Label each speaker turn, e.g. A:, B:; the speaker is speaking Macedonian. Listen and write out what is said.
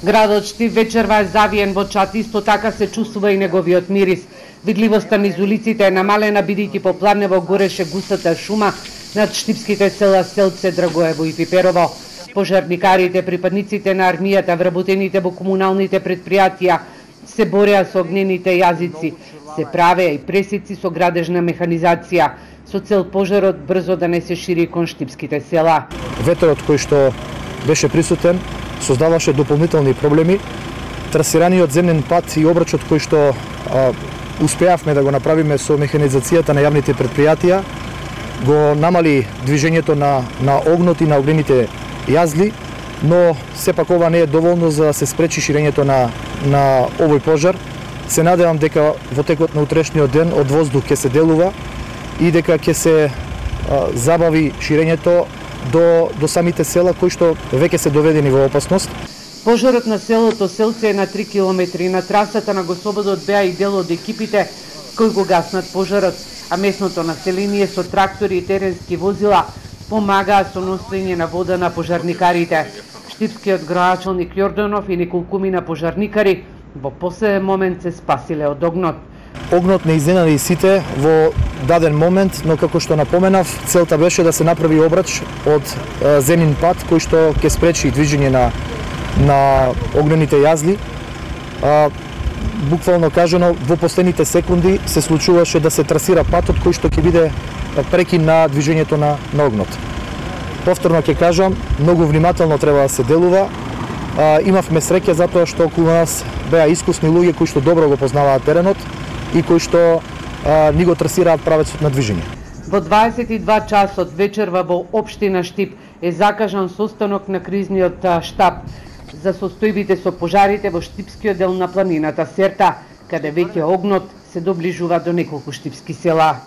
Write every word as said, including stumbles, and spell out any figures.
A: Градот Штип вечерва е завиен во чат, исто така се чувствува и неговиот мирис. Видливоста низ улиците е намалена бидејќи по Пладнево гореше густата шума над штипските села Селце, Драгоево и Пиперово. Пожарникарите, припадниците на армијата, вработените во комуналните предпријатија се бореа со огнените јазици, се правеа и пресици со градежна механизација, со цел пожарот брзо да не се шири кон штипските села.
B: Ветерот кој што беше присутен создаваше дополнителни проблеми. Трасираниот земен пат и обрачот кој што а, успеавме да го направиме со механизацијата на јавните предпријатија го намали движењето на, на огнот и на огнените јазли, но сепак ова не е доволно за да се спречи ширењето на, на овој пожар. Се надевам дека во текот на утрешниот ден од воздух ќе се делува и дека ќе се а, забави ширењето до, до самите села кои што веќе се доведени во опасност.
A: Пожарот на селото Селце е на три километри. На трасата на Госободот беа и дел од екипите кои го гаснат пожарот, а местното население со трактори и теренски возила помагаа со носење на вода на пожарникарите. Штипскиот градоначалник Јорданов и неколкумина пожарникари во последен момент се спасиле од огнот.
B: Огнот не изненади сите во даден момент, но како што напоменав, целта беше да се направи обрач од е, земен пат кој што ќе спречи движење на на огнените јазли. А, буквално кажано, во последните секунди се случуваше да се трасира патот кој што ќе биде прекин на движењето на, на огнот. Повторно ќе кажам, многу внимателно треба да се делува. А, имавме среќа затоа што околу нас беа искусни луѓе кои што добро го познаваат теренот и кои што а, ни го трасираат правецот на движење.
A: Во дваесет и два часот вечерва во општина Штип е закажан состанок на кризниот штаб за состојбите со пожарите во штипскиот дел на планината Серта, каде веќе огнот се доближува до неколку штипски села.